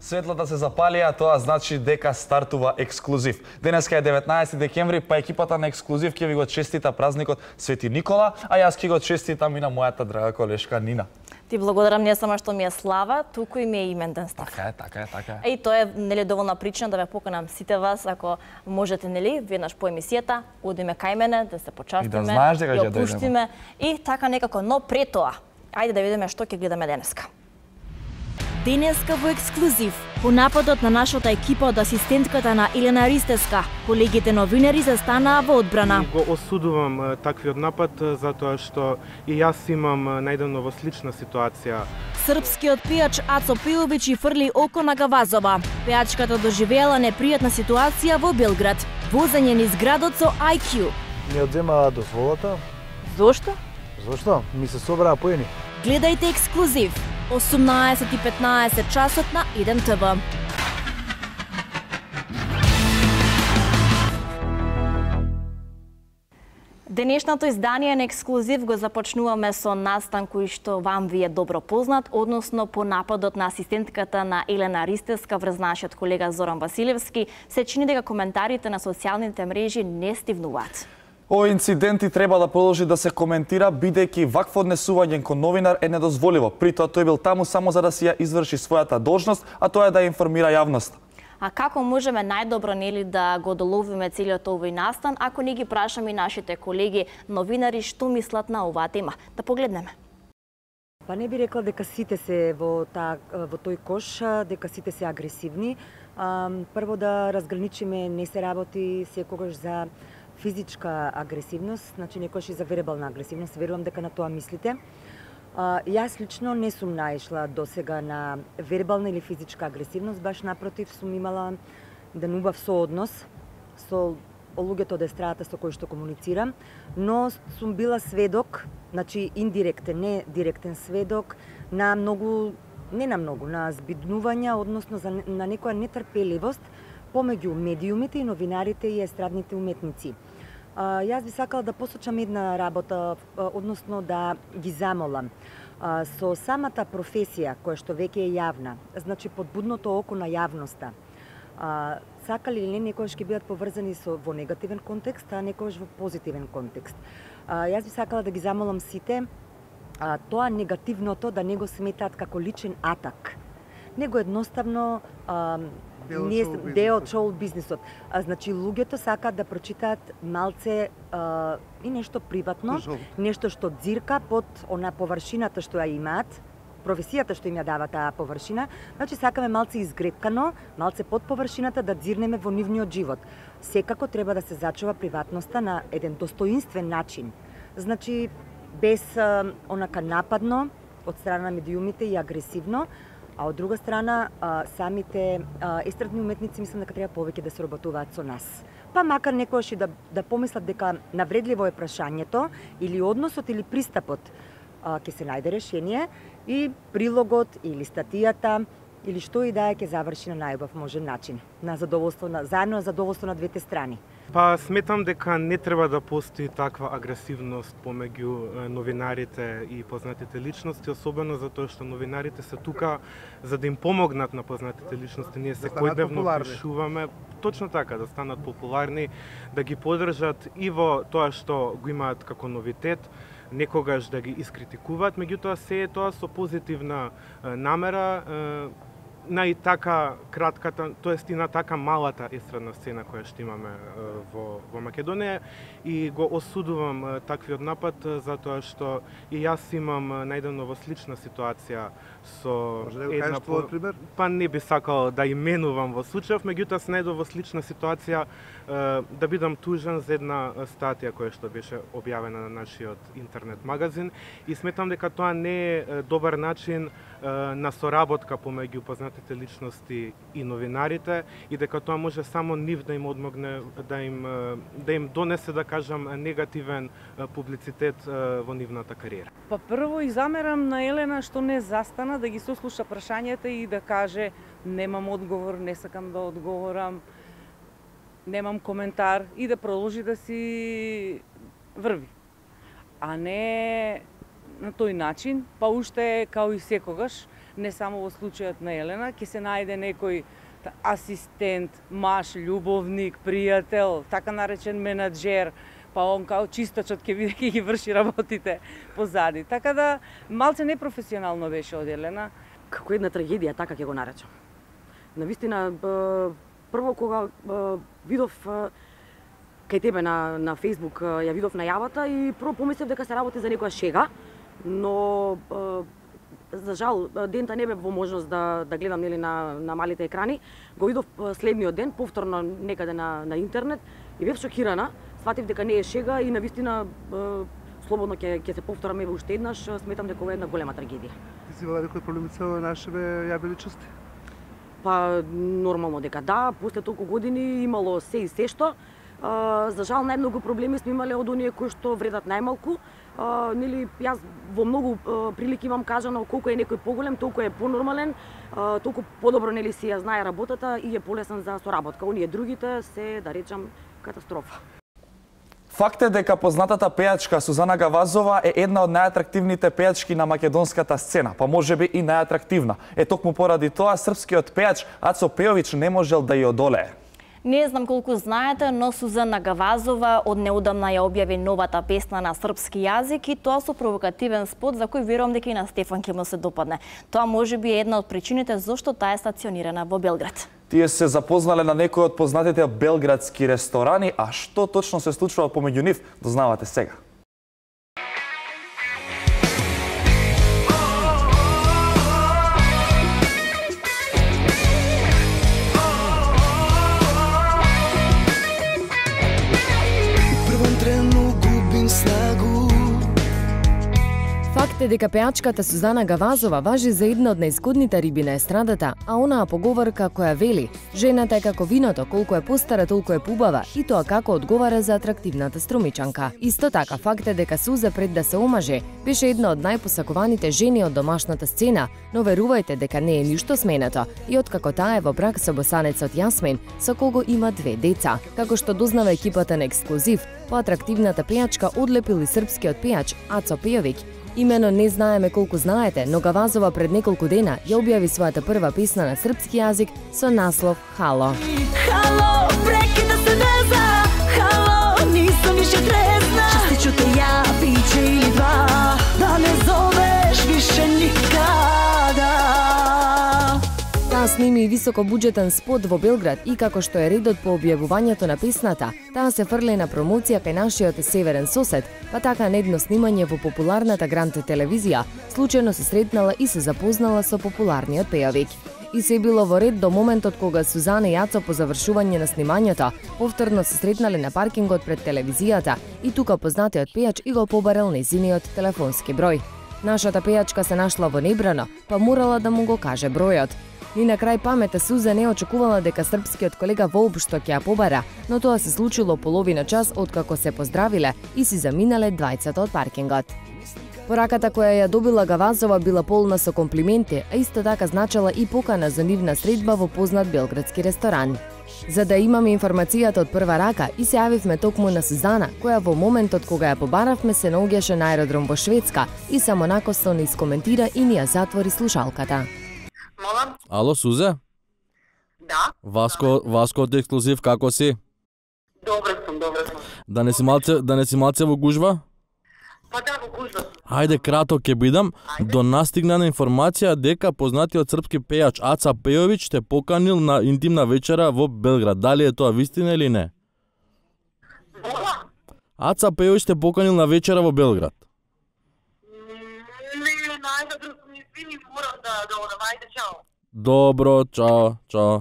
Светлата се запалија, тоа значи дека стартува ексклузив. Денеска е 19 декември, па екипата на ексклузив ќе ви го честита празникот Свети Никола, а јас ќе го честитам и на мојата драга колешка Нина. Ти благодарам не само што ми е слава, туку и ми е имен ден став. Така е. И тоа е нели доволна причина да ве поканам сите вас, ако можете нели веднаш по емисијата, одиме кај мене да се почастиме, и да знаеш дека ќе опуштиме и така некако, но пред тоа, ајде да видиме што ќе гледаме денеска. Денеска во ексклузив, по нападот на нашата екипа од асистентката на Елена Ристеска, колегите новинари застанаа во одбрана. И го осудувам таквиот напад затоа што и јас имам најдавно во слична ситуација. Српскиот пејач Ацо Пејовиќ фрли око на Гавазова. Пејачката доживеала непријатна ситуација во Белград. Возење низ градот со IQ. Ми одзема дозволата. Зошто? Зошто? Ми се собраа поени. Гледајте ексклузив. 18:15 часот на 1 ТВ. Денешното издание на ексклузив го започнуваме со настан кој што вам ви е добро познат, односно по нападот на асистентката на Елена Ристеска врз нашиот колега Зоран Василевски. Се чини дека коментарите на социјалните мрежи не стивнуваат. Овој инцидент и треба да продолжи да се коментира, бидејќи вакво однесување кон новинар е недозволиво. При тоа тој бил таму само за да си ја изврши својата должност, а тоа е да информира јавноста. А како можеме најдобро нели да го доловиме целиот овој настан, ако не ги прашаме и нашите колеги новинари што мислат на оваа тема? Да погледнеме. Па не би рекла дека сите се во тој кош, дека сите се агресивни. Прво да разграничиме, не се работи секогаш за физичка агресивност, значи некојаш и за вербална агресивност, верувам дека на тоа мислите. Јас лично не сум наишла досега на вербална или физичка агресивност, баш напротив сум имала еден убав сооднос со луѓето од естрадата со кои што комуницирам, но сум била сведок, значи индиректен, не директен сведок на на збиднувања, односно на некоја нетрпеливост помеѓу медиумите и новинарите и естрадните уметници. Јас би сакала да посочам една работа, односно да ги замолам. Со самата професија која што веќе е јавна, значи под будното око на јавноста, сакали или не, некојаш ќе бидат поврзани во негативен контекст, а некојаш во позитивен контекст. Јас би сакала да ги замолам сите тоа негативното да не го сметаат како личен атак, него едноставно дел од шоу бизнисот. Значи луѓето сакаат да прочитаат малце и нешто приватно, нешто што дзирка под она површината што ја имаат, професијата што им ја дава таа површина. Значи сакаме малце изгрепкано, малце под површината да дзирнеме во нивниот живот. Секако треба да се зачува приватноста на еден достоинствен начин. Значи без онака нападно од страна на медиумите и агресивно. А од друга страна, самите естрадни уметници мислам дека треба повеќе да се работуваат со нас. Па макар некојаш и да помислат дека навредливо е прашањето или односот или пристапот ќе се најде решение и прилогот или статијата или што и да е ќе заврши на најубав можен начин, на задоволство заедно на задоволство на двете страни. Па сметам дека не треба да постои таква агресивност помеѓу новинарите и познатите личности, особено затоа што новинарите се тука за да им помогнат на познатите личности. Ние секојдневно пишуваме точно така, да станат популарни, да ги поддржат и во тоа што го имаат како новитет, некогаш да ги искритикуваат, меѓутоа се е тоа со позитивна намера на и така кратката, тоест и на така малата естрадна сцена која што имаме во Македонија, и го осудувам таквиот напад затоа што и јас имам најдавно во слична ситуација со една пример? Па не би сакал да именувам во случајов, меѓутоа се најдов во слична ситуација да бидам тужен за една статија која што беше објавена на нашиот интернет магазин, и сметам дека тоа не е добар начин на соработка помеѓу познатите личности и новинарите, и дека тоа може само нив да им одмогне, да им донесе, да кажам, негативен публицитет во нивната кариера. Па прво и замерам на Елена што не застана да ги сослуша прашањата и да каже немам одговор, не сакам да одговорам, немам коментар, и да продолжи да си врви. А не на тој начин, па уште као и секогаш, не само во случајот на Елена, ќе се најде некој асистент, маж, љубовник, пријател, така наречен менаџер, па он као чистачот ќе биде ќе ги врши работите позади. Така да малце непрофесионално беше од Елена. Како една трагедија, така ќе го наречам. Навистина, прво кога видов кај тебе на Facebook, ја видов најавата и прво помислев дека се работи за некоја шега, но за жал дента не бев во можност да гледам нели на малите екрани. Го видов следниот ден повторно некаде на интернет и бев шокирана. Сватив дека не е шега и навистина слободно ќе се повтораме уште еднаш. Сметам дека ова е една голема трагедија. Ти си имала некои проблеми со нашиве јави личности? Па нормално дека да, после толку години имало се и се што. За жал најмногу проблеми сме имале од оние кои што вредат најмалку. Нели јас во многу прилики имам кажано колку е некој поголем, толку е понормален, толку подобро нели си ја знае работата и е полесен за соработка. Оние другите се, да речам, катастрофа. Факт е дека познатата пејачка Сузана Гавазова е една од најатрактивните пејачки на македонската сцена, па можеби и најатрактивна. Токму поради тоа српскиот пејач Ацо Пејовиќ не можел да ја одолее. Не знам колку знаете, но Сузана Гавазова од неодамна ја објави новата песна на српски јазик и тоа со провокативен спот за кој верувам дека и на Стефан ќе му се допадне. Тоа можеби е една од причините зошто таа е стационирана во Белград. Тие се запознале на некои од познатите белградски ресторани, а што точно се случува помеѓу нив, дознавате сега. Факт е дека пејачката Сузана Гавазова важи за една од најзгодните риби на естрадата, а онаа поговорка која вели: жената е како виното, колку е постара, толку е побава, и тоа како одговара за атрактивната струмичанка. Исто така, факт е дека Суза пред да се омаже, беше една од најпосакуваните жени од домашната сцена, но верувајте дека не е ништо сменето и откако таа е во брак со босанецот Јасмин, со кого има 2 деца. Како што дознава екипата на Ексклузив, по атрактивната пејачка одлепил и српскиот пејач Ацо Пејовиќ. Имено не знаеме колку знаете, но Гавазова пред неколку дена ја објави својата прва песна на српски јазик со наслов Хало. Хало, прекида се веза, хало, нисам више трезна. Частичу те ја, пиче или два, да не зовеш више никада. Таа сними и високобуџетен спот во Белград и како што е редот по објавувањето на песната, таа се фрле на промоција кај нашиот северен сосед, па така на едно снимање во популарната Грант телевизија, случајно се сретнала и се запознала со популарниот пејовик. И се било во ред до моментот кога Сузана и Ацо по завршување на снимањето повторно се сретнале на паркингот пред телевизијата и тука познатиот пејач и го побарал нејзиниот телефонски број. Нашата пејачка се нашла во небрано, па морала да му го каже бројот. Ни на крај памета Суза не очекувала дека српскиот колега воопшто ќе ја побара, но тоа се случило половина час откако се поздравиле и си заминале двајцата од паркингот. Пораката која ја добила Гавазова била полна со комплименти, а исто така значела и покана за нивна средба во познат белградски ресторан. За да имаме информацијата од прва рака, и се јавивме токму на Сузана, која во моментот кога ја побаравме се наоѓаше на аеродром во Шведска и само накосно не искоментира и ни ја затвори слушалката. Молам? Ало, Сузе? Да. Васко од Ексклузив, како си? Добре сум. Да не си малце во гужва? Па да, во гужва сум. Ајде, кратко ќе бидам. До нас стигна на информација дека познатиот српски пејач Аца Пејовиќ те поканил на интимна вечера во Белград. Дали е тоа вистина или не? Мола? Аца Пејовиќ те поканил на вечера во Белград. Не, најде извини, морам да одам. Ајде, чао. Добро, чао.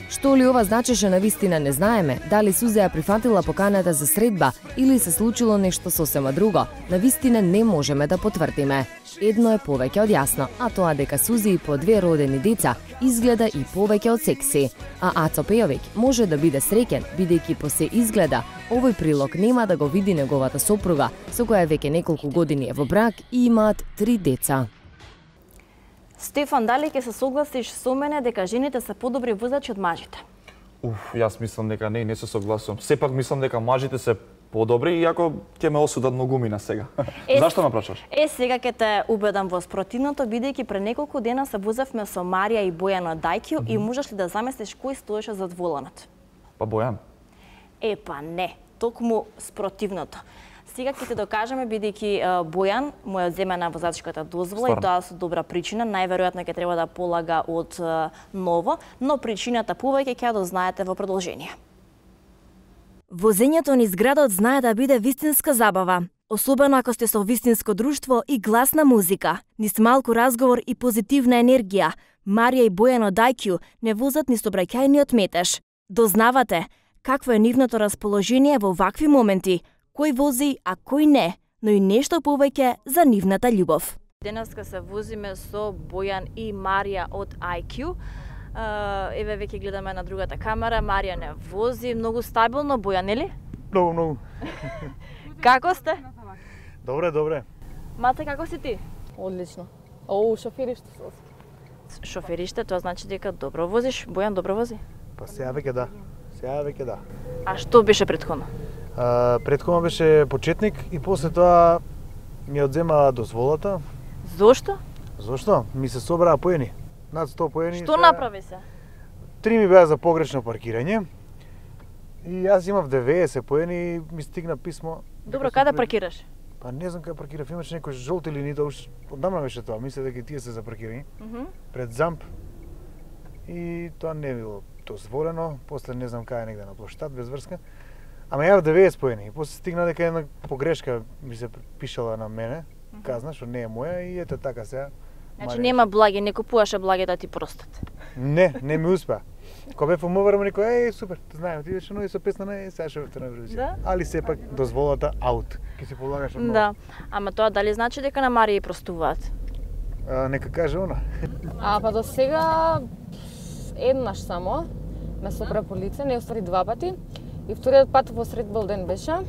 Што ли ова значеше на вистина не знаеме, дали Суза ја прифатила поканата за средба или се случило нешто сосема друго, на вистина не можеме да потврдиме. Едно е повеќе од јасно, а тоа дека Сузи и по 2 родени деца изгледа и повеќе од секси. А Ацо Пејовиќ може да биде среќен, бидејќи по се изгледа, овој прилог нема да го види неговата сопруга, со која веќе неколку години е во брак и имаат 3 деца. Стефан, дали ќе се согласиш со мене дека жените се подобри возачи од мажите? Јас мислам дека не се согласувам. Сепак мислам дека мажите се подобри, иако ќе ме осудат многумина сега. Зашто ме прашаш? Сега ќе те убедам во спротивното, бидејќи пред неколку дена се возевме со Марија и Бојан од Дајкју и можеш ли да замислиш кој стоеше зад воланот? Па Бојан. Па не, токму спротивното. Сега ќе те докажеме, бидејќи Бојан му ја земена возачката дозвола и тоа со добра причина, најверојатно ќе треба да полага од ново, но причината повеќе ќе ја дознаете во продолжение. Возењето низ градот знае да биде вистинска забава, особено ако сте со вистинско друштво и гласна музика. Низ малку разговор и позитивна енергија, Марија и Бојан од Дајкју не возат низ обраќајниот метеж. Дознавате какво е нивното расположение во вакви моменти, кој вози, а кој не, но и нешто повеќе за нивната љубов. Денеска се возиме со Бојан и Марија од IQ. Еве веќе гледаме на другата камера, Марија не вози, многу стабилно, Бојан, нели? Многу. Како сте? Добре. Мате, како си ти? Одлично. Шофериште се. Шофериште, тоа значи дека добро возиш. Бојан добро вози? Па сега веќе да. А што беше претходно? Претходно беше почетник и после тоа ми одзема дозволата. Зошто? Зошто? Ми се собраа поени. Над 100 поени. Што направи се? 3 ми беа за погрешно паркирање. И јас имав 90 поени и ми стигна писмо. Добро, каде паркираш? Па не знам каде паркирав, имаше некој жолти линии, одамна беше тоа, мисле дека тие се за паркирање. Пред ЗАМП. И тоа не било дозволено, после не знам каде негде на плоштад, без врска. Ама јав 90 поени, и после стигна дека една погрешка ми се пишала на мене, казна, што не е моја и ете така сега. Значи нема благи, не купуваше благи да ти простат. Не ми успеа. Кога бев во МВР, ми некој, супер, знаем, ти беше нови со песна, сега ќе врте на Евровизија. Да? Али сепак дозволата аут, ќе се полагаш од ново. Да, ама тоа дали значи дека на Марија простуваат? Нека каже она. Па до сега еднаш само ме сопре по лице, не уствари 2 пати. И вториот пат во сред Белден беше.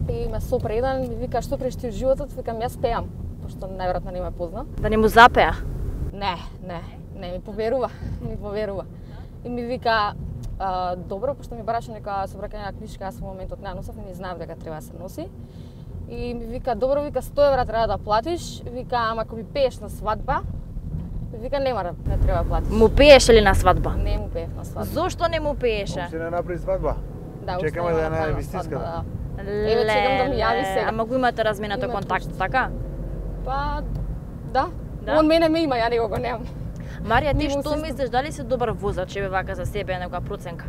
И ме сопре еден, ми вика што преш ти од животот, викам јас пеам, пошто најверојатно не ме позна. Да не му запеа? Не, ми поверува. И ми вика, добро, пошто ми бараше нека собраќања книжка, јас во моментот не носев, не знаев дека треба да се носи. И ми вика, добро, вика 100 евра треба да платиш, вика, ама ако ми пееш на свадба, вика не треба да платиш. Му пееше ли на свадба? Не му пеев на свадба. Зошто не му пееше? Уште не направи свадба. Да, чекаме да ја најде вистинската. Еве чекам да ми јави сега. Ама го имате разменато контакт, така? Па, да. Он мене ме има, ја него го немам. Марија, ти што мислиш, дали си добар возач, еве вака за себе некоја проценка?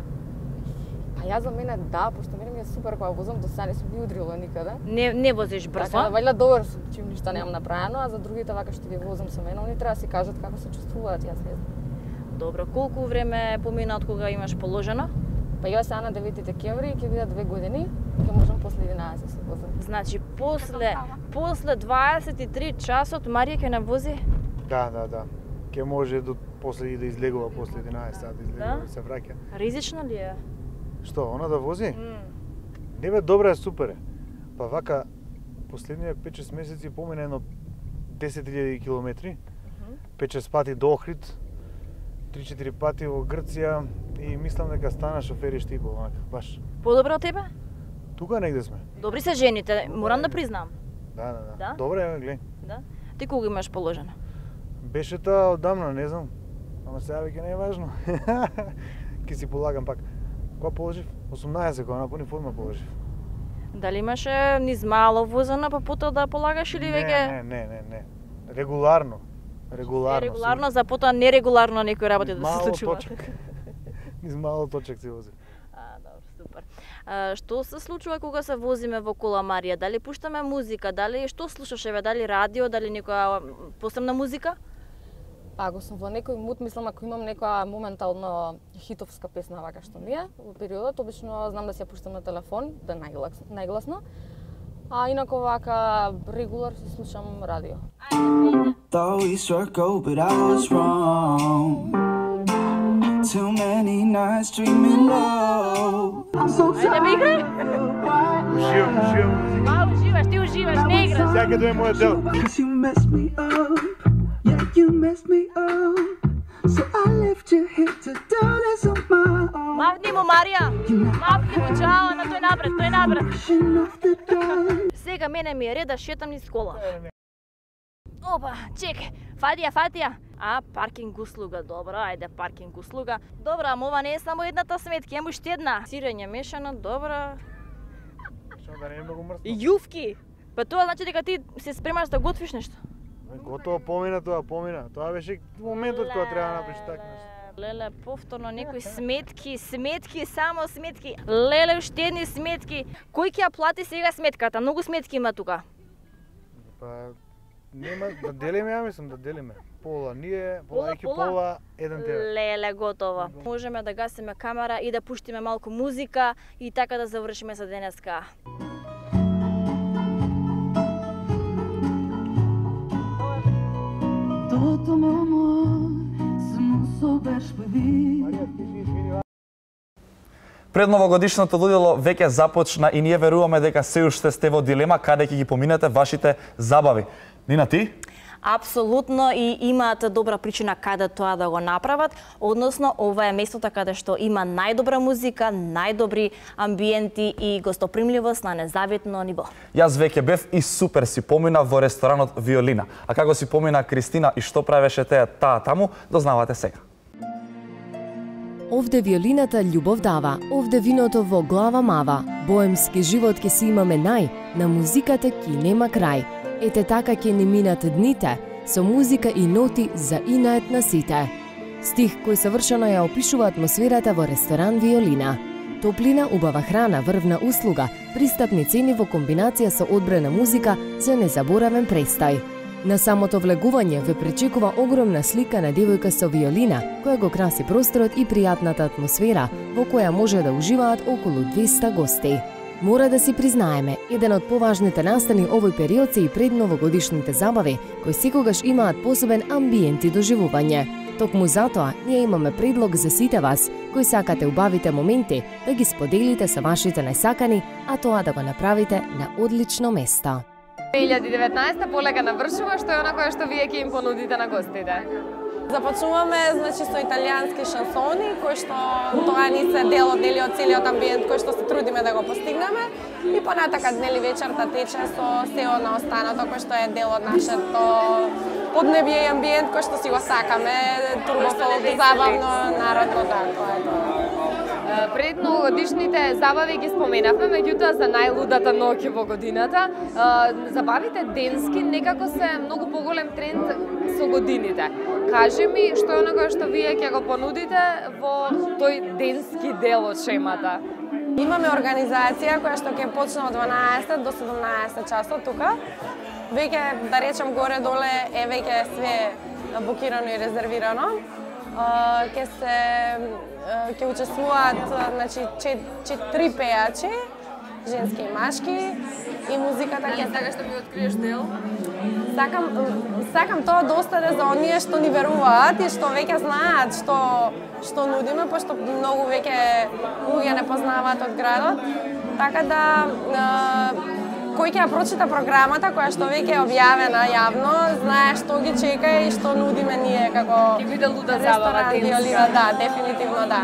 Па јас за мене да, пошто мене ми е супер кога возам, до сега не сум би удрила никаде. Не возиш брзо? Така, вајда добар сум, чим ништа немам направено, а за другите вака што ги возам со мене, они треба да си кажат како се чувствуваат, јас не знам. Добро, колку време помина од кога имаш положено? Па јас сега на 9 декември ќе бидат 2 години, ќе можам после 11 се возам. Значи после 23 часот Марија ќе не вози? Да. Ќе може до после и да излегува после 11 сати, излегува и се враќа. Ризично ли е? Што, она да вози? Не бе, добра е, супер е. Па вака, последниот 5-6 месеци помина едно 10.000 километри, 5-6 пати до Охрид, 3-4 пати во Грција и мислам дека стана шофери штипо, онака, баш. Подобро од тебе? Тука негде сме. Добри се жените, морам да признам. Да. Добре, гледај. Да? Ти кога имаш положено? Беше тоа одамна, не знам. Ама сега веќе не е важно. Ке си полагам пак. Кога положив? 18 кога напуни форма положив. Дали имаше низ мало возено, па потоа да полагаш или веќе? Не. Регуларно. Регуларно, за потоа нерегуларно некои работи да се случуваат. Низ мало точак се вози. Добро, супер. Што се случува кога се возиме во кола, Марија? Дали пуштаме музика? Дали што слушаш, дали радио, дали некоја посебна музика? Ако сум во некој мут, мислам ако имам некоја моментално хитовска песна вака што ми е во периодот, обично знам да си ја пуштам на телефон, да најгласно. А инако вака регулар си слушам радио. Thought we struck gold, but I was wrong. Too many nights dreaming low. Ајде ме играј! Уживам. Уживаш, ти уживаш, не играш. Сега ќе дое мојот дел. You messed me up, yeah, you messed me up. So I left you here to do this on my own. Мавни му, Марија! Мавни му, чао, на тој напред. Сега мене ми е ред да шетам низ кола. Опа, чекай, фатија. Паркинг услуга, добро, ајде паркинг услуга. Добро, ама ова не е само едната сметка, има уште една. Сирење мешано, добро. Што да не е многу мрсно? Јувки. Па тоа значи дека ти се спремаш да готвиш нешто. Готово, помина. Тоа беше моментот кога треба да направиш така нешто. Леле, повторно некои сметки, само сметки. Леле, уште едни сметки. Кој ќе ја плати сега сметката? Многу сметки има тука. Па нема да делиме, ја мислам да делиме. Пола ние, пола еден тебе. Леле, готово. Можеме да гасиме камера и да пуштиме малку музика и така да завршиме за денеска. Toto meu amor, se não souberes pedir. Пред новогодишното луѓело веќе започна и ние веруваме дека се уште сте во дилема каде ќе ги поминете вашите забави. Нина, ти? Апсолутно, и имаат добра причина каде тоа да го направат, односно ова е местото каде што има најдобра музика, најдобри амбиенти и гостопримливост на незавитно ниво. Јас веќе бев и супер си поминав во ресторанот Виолина. А како си помина Кристина и што правеше таа таму, дознавате сега. Овде виолината љубов дава, овде виното во глава мава. Боемски живот ке си имаме на музиката ки нема крај. Ете така ќе ни минат дните, со музика и ноти за инает на сите. Стих кој совршено ја опишува атмосферата во ресторан Виолина. Топлина, убава храна, врвна услуга, пристапни цени во комбинација со одбрана музика за незаборавен престај. На самото влегување ве пречекува огромна слика на девојка со виолина, која го краси просторот и пријатната атмосфера во која може да уживаат околу 200 гости. Мора да си признаеме, еден од поважните настани овој период се и предновогодишните забави, кои секогаш имаат посебен амбиент и доживување. Токму затоа, ние имаме предлог за сите вас, кои сакате убавите моменти, да ги споделите со вашите најсакани, а тоа да го направите на одлично место. 2019 полека навршува, што е она кое што вие ќе им понудите на гостите? Започнуваме со италијански шансони, кои што тоа ни се дел од целиот амбиент кој што се трудиме да го постигнеме и понатака вечерта тече со се она останато кој што е дел од нашето поднебие и амбиент кој што си го сакаме, турбофолк, забавно, народно, така е тоа. Пред новогодишните забави ги споменавме, меѓутоа за најлудата ноќ во годината, забавите денски некако се многу поголем тренд со годините. Кажи ми, што е оно што вие ќе го понудите во тој денски дел од шемата? Имаме организација која што ќе почне од 12 до 17 часот тука. Веќе, да речем, горе-доле е веќе све букирано и резервирано. Ќе учествуваат, значи, 4 пејачи, женски и машки, и музиката ќе... Така што ми откриеш дел? Сакам тоа да остане за оние што ни веруваат и што веќе знаат што нудиме, пошто многу веќе луѓе не познаваат од градот. Така да кој ќе ја прочита програмата која што веќе е објавена јавно, знае што ги чека и што нудиме ние како ќе биде луда забава Виолина, да, дефинитивно да.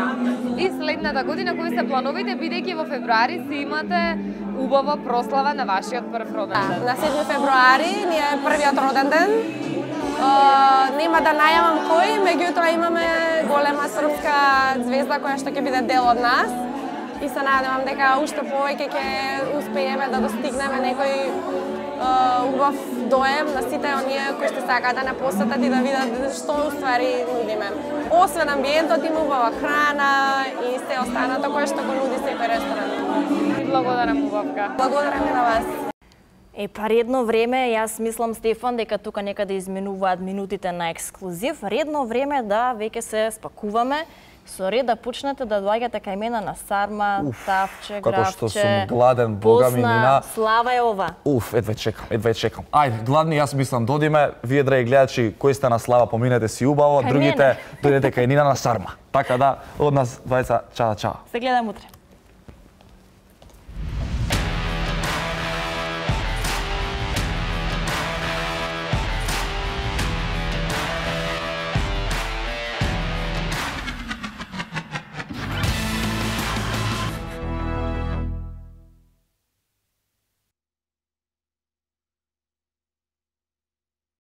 И следната година кои се плановите, бидејќи во февруари си имате убава прослава на вашиот прв роден ден? На 7 февруари ни е првиот роден ден. Нема да најавам кој, меѓутоа имаме голема српска звезда која што ќе биде дел од нас. И се надевам дека уште повеќе ќе успееме да достигнеме некој убав доем на сите оние кои што сакаат да не посетат и да видат што уствари нудиме. Освен амбиентот има убава храна и се останато кое што го нуди секој ресторан. Благодарам, убавка. Благодарам и на вас. Па редно време, јас мислам, Стефан, дека тука некаде изменуваат минутите на ексклузив. Редно време да веќе се спакуваме. Со ред да почнете да доаѓате кај мене на сарма, тавче, гравче, како што сум гладен, бога ми, Нина. Слава е ова. Едве чекам. Ајде, гладни, јас мислам, додиме, вие, драги гледачи, кои сте на Слава, поминете си убаво, другите дојдете кај Нина на сарма. Така да, од нас двајца, чао. Се гледам утре.